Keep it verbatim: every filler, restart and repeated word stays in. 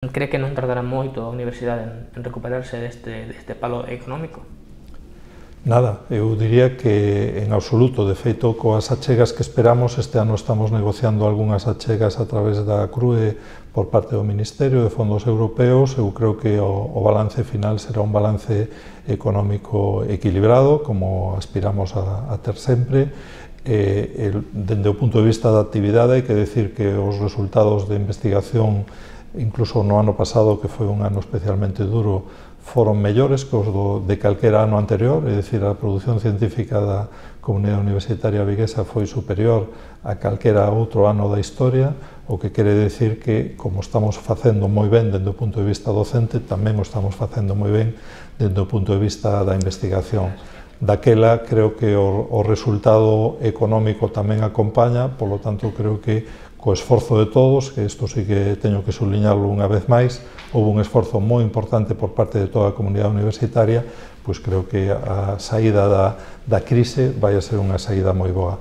Cree que non tardará moito a universidade en recuperarse deste, deste palo económico? Nada, eu diría que en absoluto. De feito, coas achegas que esperamos, este ano estamos negociando algunhas achegas a través da C R U E por parte do Ministerio de Fondos Europeos. Eu creo que o, o balance final será un balance económico equilibrado, como aspiramos a, a ter sempre. Eh, el, dende o punto de vista da actividade, hai que decir que os resultados de investigación, incluso no ano pasado, que foi un ano especialmente duro, foron mellores que os do, de calquera ano anterior, é dicir, a produción científica da comunidade universitaria viguesa foi superior a calquera outro ano da historia, o que quere decir que, como estamos facendo moi ben dende o punto de vista docente, tamén o estamos facendo moi ben dende o punto de vista da investigación. Daquela, creo que o, o resultado económico tamén acompaña, polo tanto, creo que co esforzo de todos, que isto sí que teño que subliñarlo unha vez máis, houve un esforzo moi importante por parte de toda a comunidade universitaria, pois creo que a saída da, da crise vai a ser unha saída moi boa.